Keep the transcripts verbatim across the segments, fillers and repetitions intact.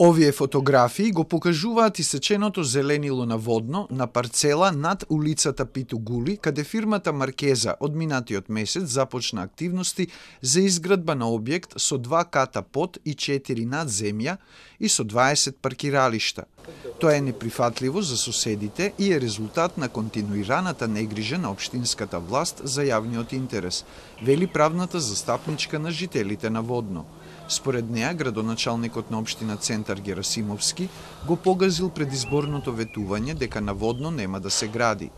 Овие фотографии го покажуваат исеченото зеленило на Водно на парцела над улицата Питу Гули, каде фирмата Маркеза од минатиот месец започна активности за изградба на објект со два ката под и четири над земја и со дваесет паркиралишта. Тоа е неприфатливо за соседите и е резултат на континуираната негрижа на општинската власт за јавниот интерес, вели правната застапничка на жителите на Водно. Според неа, градоначалникот на општина Центар Герасимовски го погазил предизборното ветување дека на Водно нема да се гради.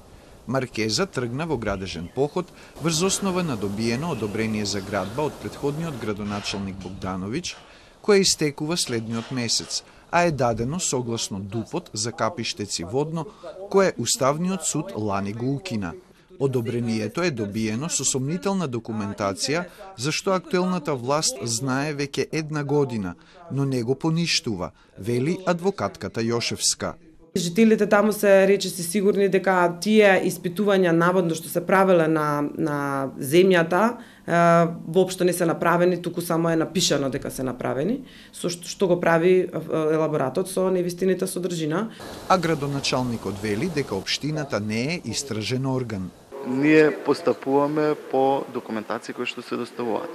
Маркеза тргна во градежен поход врз основа на добиено одобрение за градба од претходниот градоначалник Богдановиќ, кое истекува следниот месец, а е дадено согласно ДУПот за Капиштеци Водно, кое Уставниот суд лани го укина. Одобрението е добиено со сомнителна документација, зашто актуелната власт знае веќе една година, но не го поништува, вели адвокатката Јошевска. Жителите таму се речиси сигурни дека тие испитувања наводно што се правеле на, на земјата е, воопшто не се направени, туку само е напишано дека се направени, со што, што го прави елаборатот со невистината содржина. А градоначалникот вели дека општината не е истражен орган. Ние постапуваме по документација кои што се доставуваат.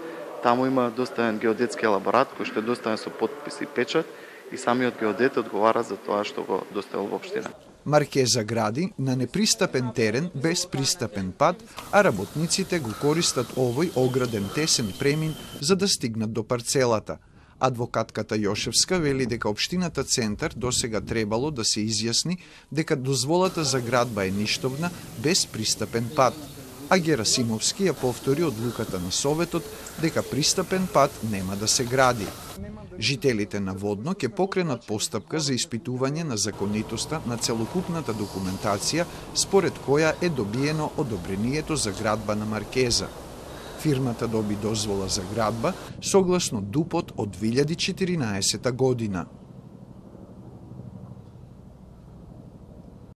Таму има доставен геодетски елаборат кој што е доставен со потпис и печат и самиот геодет одговара за тоа што го доставил во општина. Маркеза гради на непристапен терен без пристапен пат, а работниците го користат овој ограден тесен премин за да стигнат до парцелата. Адвокатката Јошевска вели дека општината Центар досега требало да се изјасни дека дозволата за градба е ништовна без пристапен пат, а Герасимовски ја повтори одлуката на Советот дека пристапен пат нема да се гради. Жителите на Водно ќе покренат постапка за испитување на законитоста на целокупната документација според која е добиено одобрението за градба на Маркеза. Фирмата доби дозвола за градба согласно ДУПот од две илјади и четиринаесета година.